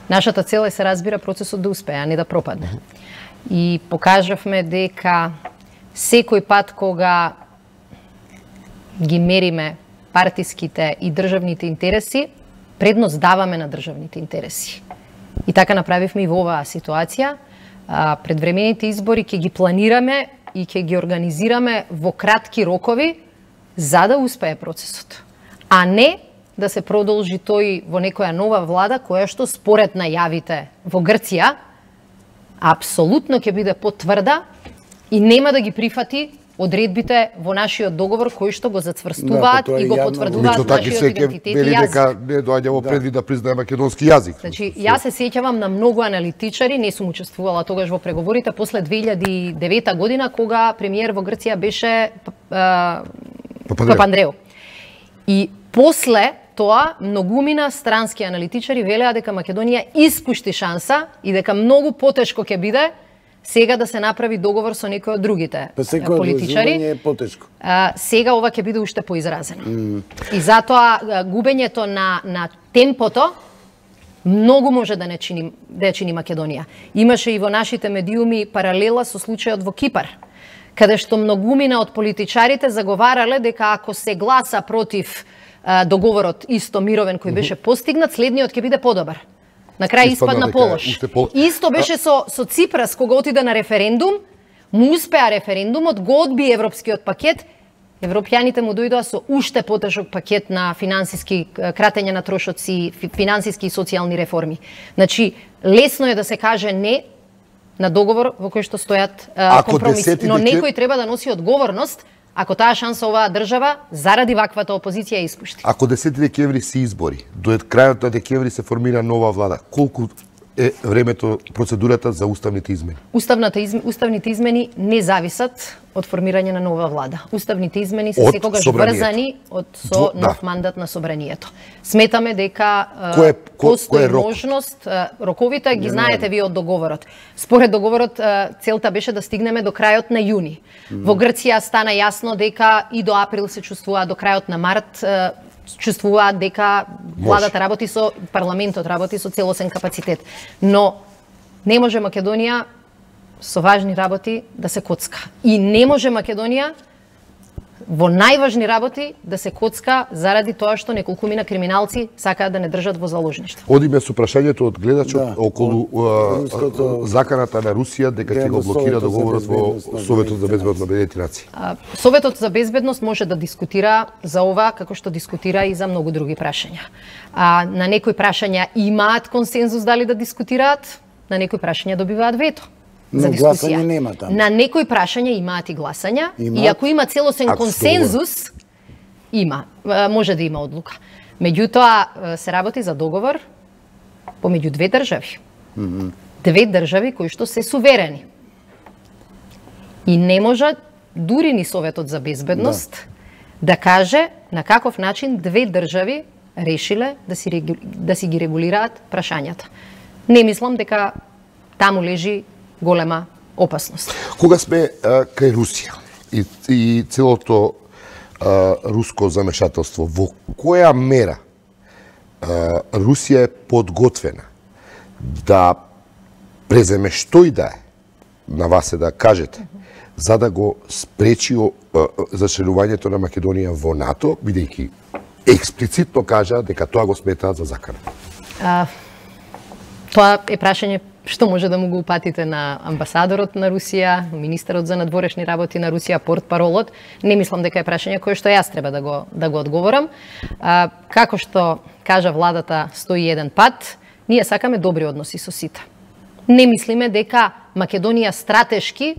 Нашата цел е, се разбира, процесот да успее, а не да пропадне. И покажавме дека секој пат кога ги мериме партиските и државните интереси, предност даваме на државните интереси. И така направивме и во оваа ситуација. Предвремените избори ќе ги планираме и ќе ги организираме во кратки рокови за да успее процесот. А не да се продолжи тој во некоја нова влада која што според најавите во Грција апсолутно ќе биде потврда и нема да ги прифати одредбите во нашиот договор кои што го зацврстуваат да, и го потврдуваат нашиот идентитет и јазик. Дека не доаѓа во предвид да признае македонски јазик. Значи, јас се сеќавам на многу аналитичари, не сум учествувала тогаш во преговорите после две илјади и девета година кога премиер во Грција беше Папандреу. И после тоа многумина странски аналитичари велеа дека Македонија испушти шанса и дека многу потешко ќе биде сега да се направи договор со некои од другите па политичари. Е потешко. А, сега ова ќе биде уште поизразено. Mm. И затоа губењето на на темпото многу може да не чини да чини Македонија. Имаше и во нашите медиуми паралела со случајот во Кипар, каде што многумина од политичарите заговарале дека ако се гласа против а, договорот исто мировен кој беше постигнат, следниот ќе биде подобар. На крај испадна полош. Пол... Исто беше со, со Ципрас, кога отида на референдум, му успеа референдумот, го одби европскиот пакет, европјаните му дојдоа со уште потежок пакет на финансиски кратење на трошоци, финансиски и социјални реформи. Значи, лесно е да се каже не на договор во кој што стојат а, компромиси, но некој треба да носи одговорност ако таа шанса оваа држава заради ваквата опозиција испушти. Ако десети декември се избори, до крајот на декември се формира нова влада, колку е времето, процедурата за уставните измени? Уставната изм... Уставните измени не зависат од формирање на нова влада. Уставните измени се секогаш врзани од со Дво... нов да. мандат на собранието. Сметаме дека кој, постои кој можност, роковите ги знаете вие од договорот. Според договорот целта беше да стигнеме до крајот на јуни. Mm. Во Грција стана јасно дека и до април се чувствува, до крајот на март чувствуваат дека владата работи со, парламентот работи со целосен капацитет. Но не може Македонија со важни работи да се коцка. И не може Македонија во најважни работи да се коцка заради тоа што неколкумина криминалци сакаат да не држат во заложништво. Одиме со прашањето од гледачот да, околу од, руското... заканата на Русија дека ќе го блокира договорот во Советот за безбедност на Обединетите нации. Советот за безбедност може да дискутира за ова како што дискутира и за многу други прашања. А на некои прашања имаат консензус дали да дискутираат, на некои прашања добиваат вето. За дискусија. Нема таму. На некои прашања имаат и гласања, имаат? И ако има целосен ако консензус, има, може да има одлука. Меѓутоа се работи за договор помеѓу две држави. Mm-hmm. две држави кои што се суверени. И не може дури ни Советот за безбедност да, да каже на каков начин две држави решиле да си, да си ги регулираат прашањата. Не мислам дека таму лежи голема опасност. Кога сме а, кај Русија и, и целото а, руско замешателство, во која мера а, Русија е подготвена да преземе што и да е, на вас е да кажете, за да го спречи зачленувањето на Македонија во НАТО, бидејќи експлицитно кажа дека тоа го сметаат за закана? А, тоа е прашање што може да му го упатите на амбасадорот на Русија, министерот за надворешни работи на Русија, портпаролот. Не мислам дека е прашање кое што јас треба да го да го одговорам. А, како што кажа владата сто и еден пат, ние сакаме добри односи со сите. Не мислиме дека Македонија стратешки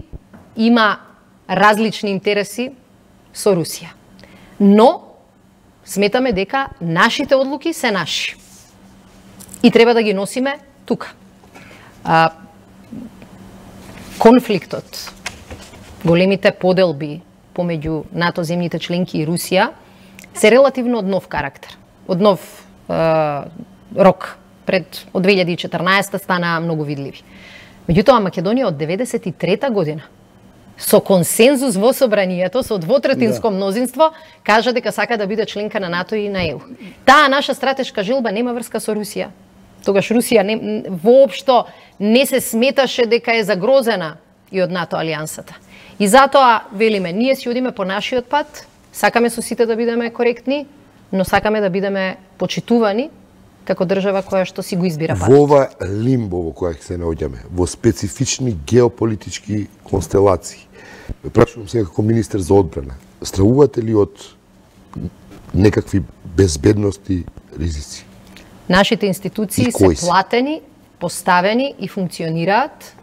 има различни интереси со Русија. Но сметаме дека нашите одлуки се наши. И треба да ги носиме тука. А, конфликтот, големите поделби помеѓу НАТО земјите членки и Русија се релативно од нов карактер, од нов е, рок. Пред од две илјади и четрнаесета стана многу видливи. Меѓутоа Македонија од деветдесет и трета година со консензус во собранието, со двотретинско да. мнозинство, кажа дека сака да биде членка на НАТО и на Е У. Таа наша стратешка желба нема врска со Русија. Тогаш Русија не, воопшто не се сметаше дека е загрозена и од НАТО алијансата. И затоа велиме, ние си одиме по нашиот пат, сакаме со сите да бидеме коректни, но сакаме да бидеме почитувани како држава која што си го избира патот. Во ова лимбо во која се наоѓаме, во специфични геополитички констелации, прашувам се како министер за одбрана, стравувате ли од некакви безбедности ризици? Нашите институции се платени, поставени и функционираат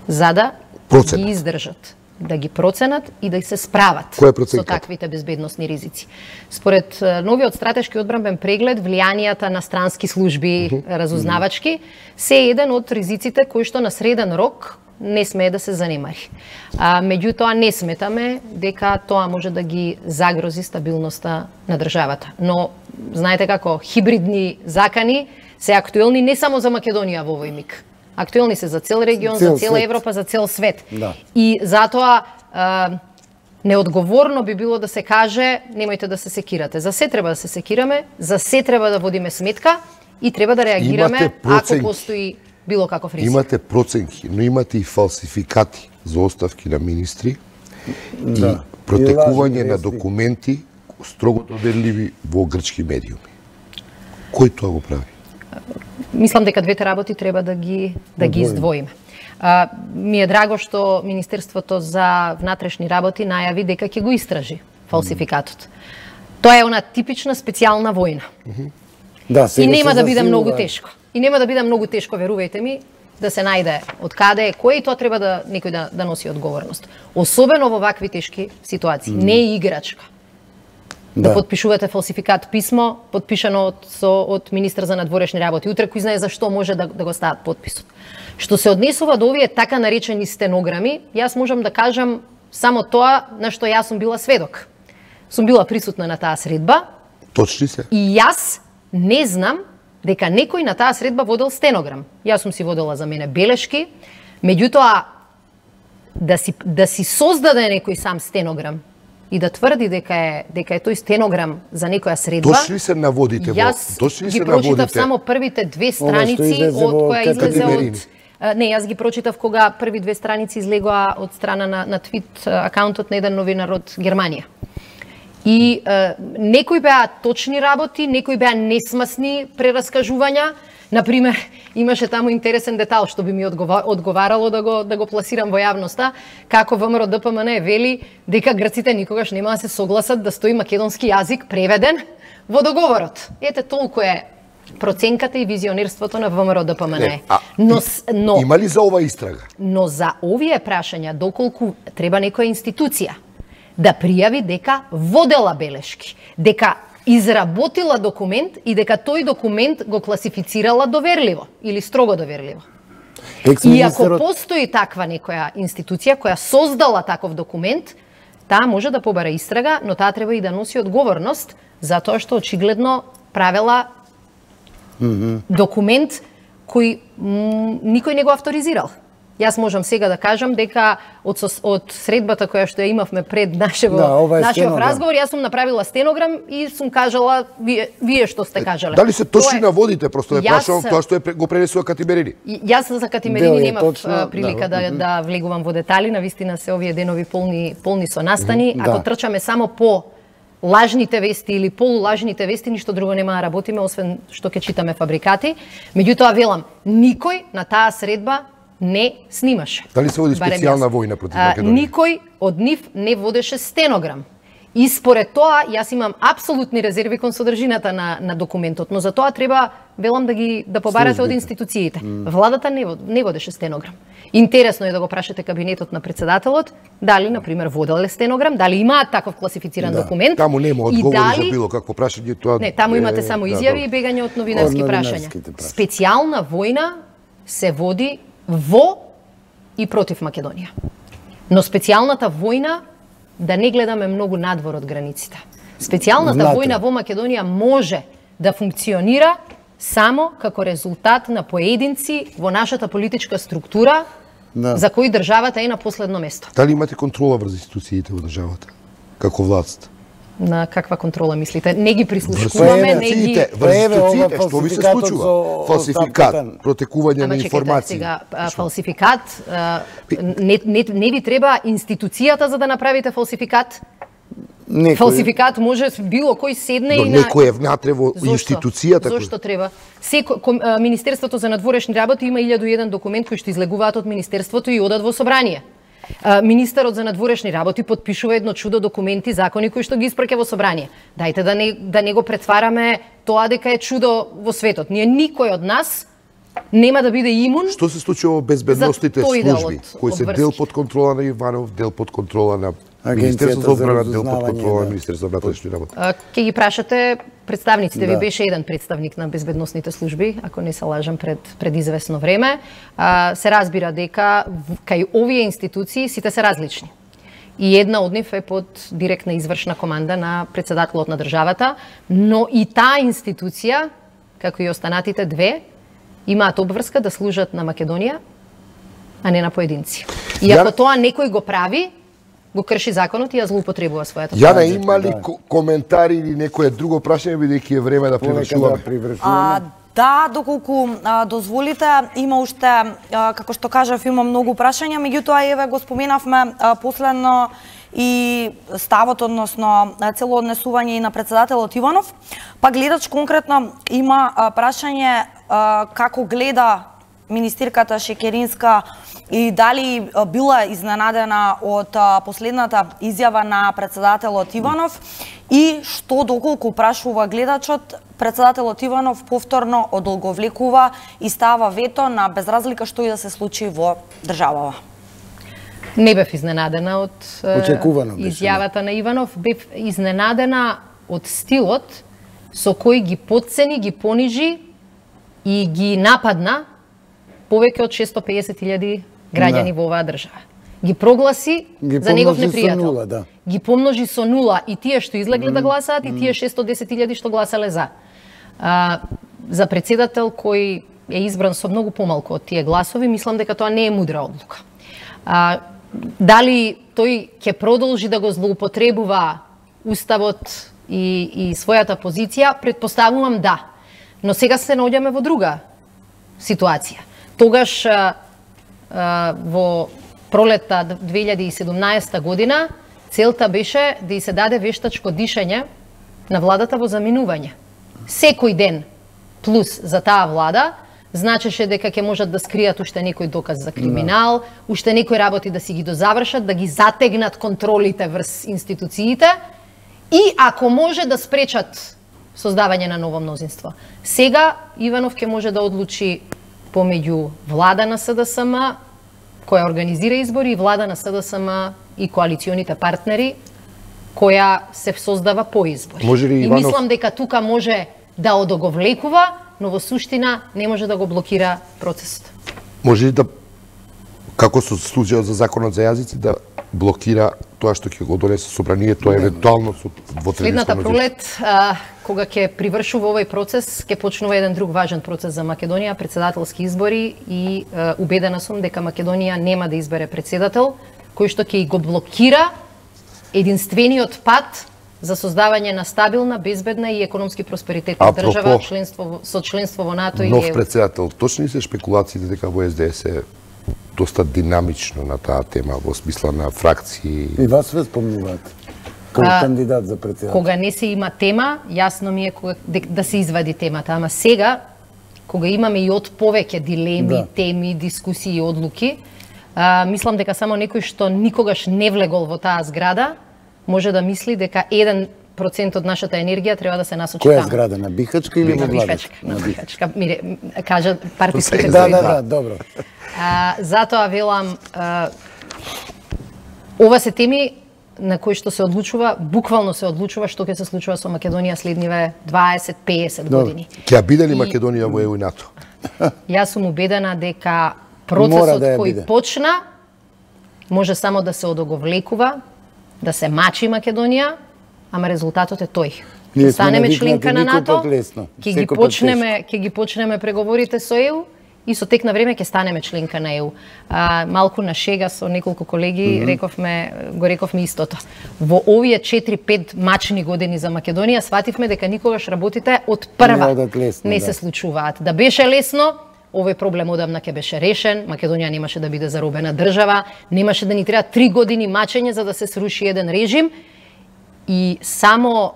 за да Проценат. ги издржат, да ги проценат и да се справат со таквите безбедносни ризици. Според новиот стратешки одбранбен преглед, влијанијата на странски служби, uh-huh. разузнавачки, се е еден од ризиците кои што на среден рок не смее да се занемари. А, меѓутоа не сметаме дека тоа може да ги загрози стабилноста на државата. Но знаете како, хибридни закани се актуелни не само за Македонија во овој миг. Актуелни се за цел регион, цел за цела свет. Европа, за цел свет. Да. И затоа а, неодговорно би било да се каже немојте да се секирате. За се треба да се секираме, за се треба да водиме сметка и треба да реагираме ако постои било каков риск. Имате проценки, но имате и фалсификати за оставки на министри да. и протекување на документи строго доверливи во грчки медиуми. Кој тоа го прави? Мислам дека двете работи треба да ги да ги издвоиме. А, ми е драго што Министерството за внатрешни работи најави дека ќе го истражи фалсификатот. Тоа е она типична специјална војна. Да, и нема да биде многу тешко. И нема да биде многу тешко, верувајте ми, да се најде од каде е кој и тоа треба да некој да, да носи одговорност. Особено во вакви тешки ситуации. Mm. Не е играчка. Да. да подпишувате фалсификат писмо, подпишано од, со, од министер за надворешни работи. Утре кој знае зашто може да, да го стават подписот. Што се однесува до овие така наречени стенограми, јас можам да кажам само тоа на што јас сум била сведок. Сум била присутна на таа средба. Точни се. И јас не знам дека некој на таа средба водел стенограм. Јас сум си водела за мене белешки, меѓутоа да си да си создаде некој сам стенограм и да тврди дека е дека е тој стенограм за некоја средба. Точно се наводите во. Точно се наводите. Јас ги прочитав само првите две страници од која излезе од Не, јас ги прочитав кога први две страници излегоа од страна на на твит акаунтот на еден новинар од Германија. И е, некои беа точни работи, некои беа несмасни прераскажувања. Например, имаше таму интересен детал што би ми одговарало да го да го пласирам во јавноста, како ВМРО Д П М Н вели дека грците никогаш нема да се согласат да стои македонски јазик преведен во договорот. Ете толку е проценката и визионерството на ВМРО Д П М Н. Но, но има ли за ова истрага? Но за овие прашања доколку треба некоја институција да пријави дека водела белешки, дека изработила документ и дека тој документ го класифицирала доверливо или строго доверливо. И ако постои таква некоја институција која создала таков документ, таа може да побара истрага, но таа треба и да носи одговорност за тоа што очигледно правела mm-hmm. документ кој м, никој не го авторизирал. Јас можам сега да кажам дека од, од средбата која што ја имавме пред нашево, да, нашиот разговор, јас сум направила стенограм и сум кажала вие, вие што сте кажале. Дали се точни наводите, просто не прашувам тоа што е го пренесува Катимерини? Јас за Катимерини немав прилика да, да, да влегувам во детали, навистина се овие денови полни, полни со настани. Mm, Ако да. трчаме само по лажните вести или полулажните вести, ништо друго нема да работиме, освен што ќе читаме фабрикати. Меѓутоа, велам, никој на таа средба не снимаше. Дали се води специјална војна против Македонија? Никој од нив не водеше стенограм. И според тоа, јас имам апсолутни резерви кон содржината на, на документот, но за тоа треба, велам, да ги да побарате од институциите. Mm. Владата не, не водеше стенограм. Интересно е да го прашате кабинетот на председателот, дали, например, воделе стенограм, дали имаат таков класифициран да. документ. Таму нема одговори дали... за било какво прашање. Тоа... Не, таму имате само изјави да, и бегање од новинарски прашања. Специјална војна се води во и против Македонија. Но специјалната војна, да не гледаме многу надвор од границите. Специјалната Знате. војна во Македонија може да функционира само како резултат на поединци во нашата политичка структура, да. за кои државата е на последно место. Дали имате контрола врз институциите во државата, како власт? На каква контрола мислите? Не ги прислушкуваме, не ги... Врз институциите, што ви се случува? Фалсификат, протекување на информации. Сега, фалсификат, не, не, не ви треба институцијата за да направите фалсификат? Некој... Фалсификат може било кој седне но и на... некој е внатре во институцијата. Зошто треба? Секо, ком, Министерството за надворешни работи има илјаду и еден документ кој што излегуваат од Министерството и одат во собрание. Министерот за надворешни работи подпишува едно чудо документи, закони кои што ги испраќа во собрание. Дајте да не, да не го претвараме тоа дека е чудо во светот. Ние никој од нас нема да биде имун. Што се случува во безбедносните служби, кои се дел под контрола на Иванов, дел под контрола на Министерството за одбрана, дел под контрола на Министерството за внатрешни работи? Ке ги прашате представниците, да. ви беше еден представник на безбедносните служби, ако не се лажам, пред, пред известно време. А, се разбира дека кај овие институции сите се различни. И една од нив е под директна извршна команда на председателот на државата, но и таа институција, како и останатите две, имаат обврска да служат на Македонија, а не на поединци. И ако тоа некој го прави, го крши законот и ја злоупотребува својата позиција. Јана, има ли да. коментари или некое друго прашање, бидејќи е време да привршуваме? А, да, доколку а, дозволите, има уште, а, како што кажав, има многу прашања, меѓутоа еве го споменавме а, последно и ставот, односно цело однесување и на председателот Иванов. Па гледач конкретно има а, прашање а, како гледа министерката Шекеринска и дали била изненадена од последната изјава на председателот Иванов и што доколку прашува гледачот, председателот Иванов повторно одолговлекува и става вето на безразлика што и да се случи во државава. Не бев изненадена од изјавата на Иванов, бев изненадена од стилот со кој ги потцени, ги понижи и ги нападна повеќе од шесто пеесет илјади граѓани да. во оваа држава. Ги прогласи ги за негов непријател. Нула, да. Ги помножи со нула и тие што излегле mm. да гласаат и тие шесто десет илјади што гласале за. А, за председател кој е избран со многу помалку од тие гласови, мислам дека тоа не е мудра одлука. А, дали тој ќе продолжи да го злоупотребува уставот и, и својата позиција, претпоставувам да. Но сега се наоѓаме во друга ситуација. Тогаш а, а, во пролетта две илјади и седумнаесета година целта беше да и се даде вештачко дишење на владата во заминување. Секој ден плюс за таа влада значеше дека ќе можат да скријат уште некој доказ за криминал, no. уште некои работи да си ги дозавршат, да ги затегнат контролите врз институциите и ако може да спречат создавање на ново мнозинство. Сега Иванов ќе може да одлучи помеѓу влада на СДСМ, која организира избори, и влада на СДСМ и коалиционите партнери, која се создава по избори. Иванов... И мислам дека тука може да одоговлекува, но во суштина не може да го блокира процесот. Може ли да, како со случајот за законот за јазици, да блокира тоа што ќе го донесе собранието, евентуално со двотреćinско Следната мнозинство? пролет, а, кога ќе привршува овој процес, ќе почнува еден друг важен процес за Македонија, председателски избори, и а, убедена сум дека Македонија нема да избере председател кој што ќе го блокира единствениот пат за создавање на стабилна, безбедна и економски просперитетна држава, членство со членство во НАТО и нов ЕУ. председател, точни се шпекулациите дека во Ес Де Ес е доста динамично на таа тема, во смисла на фракции? И вас ве спомнуваат како А, кандидат за председател. Кога не се има тема, јасно ми е кога, да се извади темата, ама сега, кога имаме и од повеќе дилеми, Да. теми, дискусии и одлуки, а, мислам дека само некој што никогаш не влегол во таа зграда може да мисли дека еден процент од нашата енергија треба да се насочи Која таму. зграда, на Бихачка или На во Бихачка, Владачка? на Бихачка. Мире, кажа партиските Да, кои- да, да, добро. А, затоа велам, а, ова се теми на кои што се одлучува, буквално се одлучува што ќе се случува со Македонија следниве дваесет до песет години. Ќе ја биде ли И- Македонија во Е У и НАТО? Јас сум убедена дека Мора процесот да ја кој биде. почна може само да се одоговлекува, да се мачи Македонија, ама резултатот е тој. Ние Ќе сме станеме навикнати членка на никој НАТО, пат лесно, ќе ги секој пат почнеме, ќе ги почнеме преговорите со Е У и со тек на време ќе станеме членка на Е У. А, малку на шега со неколку колеги mm -hmm. рековме, го рековме истото. Во овие четири-пет мачни години за Македонија свативме дека никогаш работите од прва Не одат лесно, не да. се случуваат. Да беше лесно, овој проблем одамна ќе беше решен, Македонија немаше да биде заробена држава, немаше да ни треба три години мачење за да се сруши еден режим, и само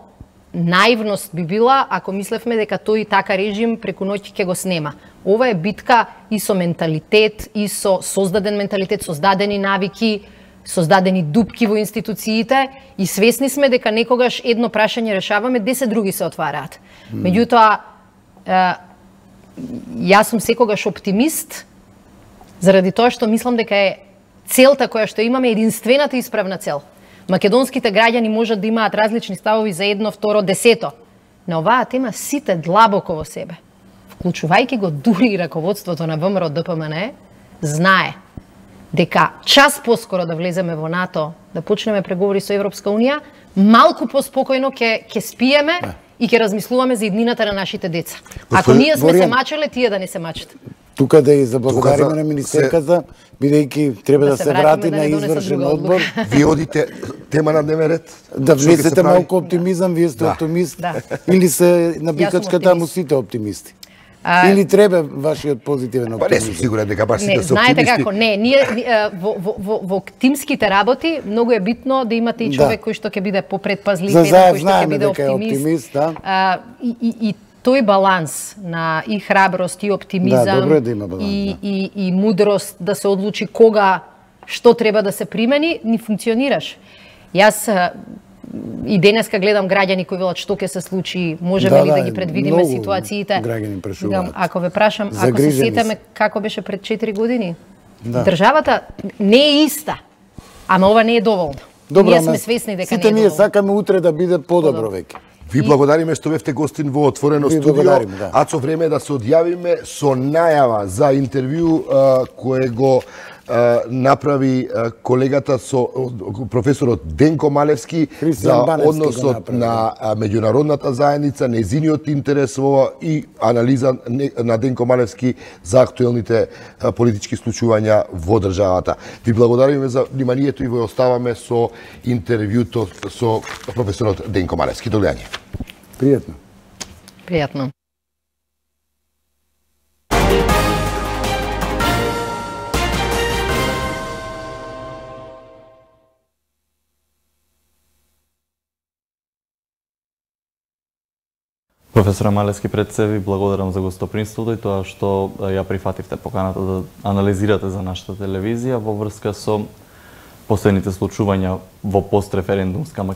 наивност би била ако мислевме дека тој така режим преку ноќ ќе го снема. Ова е битка и со менталитет, и со создаден менталитет, создадени навики, создадени дупки во институциите, и свесни сме дека некогаш едно прашање решаваме, десет други се отвараат. Меѓутоа, е, јас сум секогаш оптимист, заради тоа што мислам дека е целта која што имаме единствената исправна цел. Македонските граѓани можат да имаат различни ставови за едно, второ, десето. На оваа тема сите длабоко во себе, вклучувајќи го дури и раководството на Вэ Ем Ер О Д П М Н Е, знае дека час поскоро да влеземе во НАТО, да почнеме преговори со Европска Унија, малку поспокојно ќе ќе спиеме и ќе размислуваме за иднината на нашите деца. Ако Господин ние сме се Боријан, мачеле, тие да не се мачат. Тука да и заблагодариме Тука за- на министерката, бидејќи треба Да да се се вратиме, врати да на не донесат извршен друга одбор, Вие одите тема на дневен ред? да Што ќе се внесете прави? малку оптимизам, вие сте Да. оптимист, Да. или се на сум Бикачка таму оптимист. сите оптимисти? А, Или треба вашиот позитивен Па не сум оптимизам? сигурен дека баш Не, сите се знаете оптимисти. како, не, ние ни- е, во, во, во, во тимските работи многу е битно да имате и Да. човек кој што ќе биде попредпазлив, За еден заед кој што ќе знаеме биде дека е оптимист. оптимист, да. А, и, и, и тој баланс на и храброст и оптимизам, Да, добро е да има баланс, и, да. и, и мудрост да се одлучи кога што треба да се примени, ни функционираш. Јас а, и денеска гледам граѓани кои велат што ќе се случи, можеме Да, ли да, да, ги предвидиме многу ситуациите. граѓани прашуваат. Викам, ако ве прашам, ако се Загрижени сетаме се. како беше пред четири години, Да. државата не е иста, ама ова не е доволно. Добро, ние ама сме свесни дека сите не е ние доволно. сакаме утре да биде подобро веќе. Ви благодариме што бевте гостин во отворено Ви студио. благодариме, да. Ацо, време е да се одјавиме со најава за интервју а, кое го а, направи а, колегата со а, професорот Денко Малевски Христијан за Баневски го односот направи, на а, меѓународната заедница, незиниот интерес во ова и анализа не- на Денко Малевски за актуелните а, политички случувања во државата. Ви благодариме за вниманието и во оставаме со интервјуто со професорот Денко Малевски. До гледање. Пријатно. Пријатно. Професора Малевски, пред се ви благодарам за гостопримството и тоа што ја прифативте поканата да анализирате за нашата телевизија во врска со последните случувања во постреферендумска Македонија.